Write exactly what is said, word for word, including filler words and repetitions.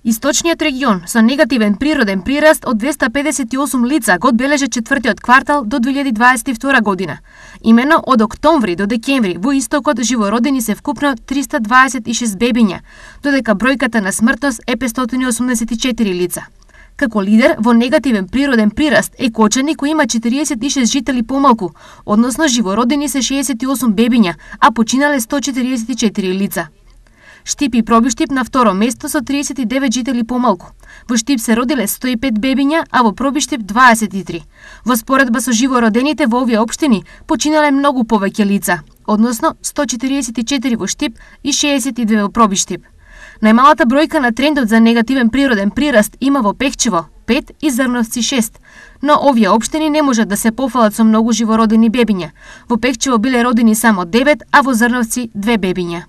Источниот регион со негативен природен прираст од двеста педесет и осум лица го одбележа четвртиот квартал до две илјади дваесет и втора година. Имено од октомври до декември во истокот живородени се вкупно триста дваесет и шест бебиња, додека бројката на смртност е петстотини и осумдесет и четири лица. Како лидер во негативен природен прираст е Кочани, кој има четириесет и шест жители помалку, односно живородени се шеесет и осум бебиња, а починале сто четириесет и четири лица. Штип и Пробиштип на второ место со триесет и девет жители помалку. Во Штип се родиле сто и пет бебиња, а во Пробиштип дваесет и три. Во споредба со живородените во овие општини починале многу повеќе лица, односно сто четириесет и четири во Штип и шеесет и две во Пробиштип. Најмалата бројка на трендот за негативен природен прираст има во Пехчево пет и Зрновци шест, но овие општини не можат да се пофалат со многу живородени бебиња. Во Пехчево биле родени само девет, а во Зрновци две бебиња.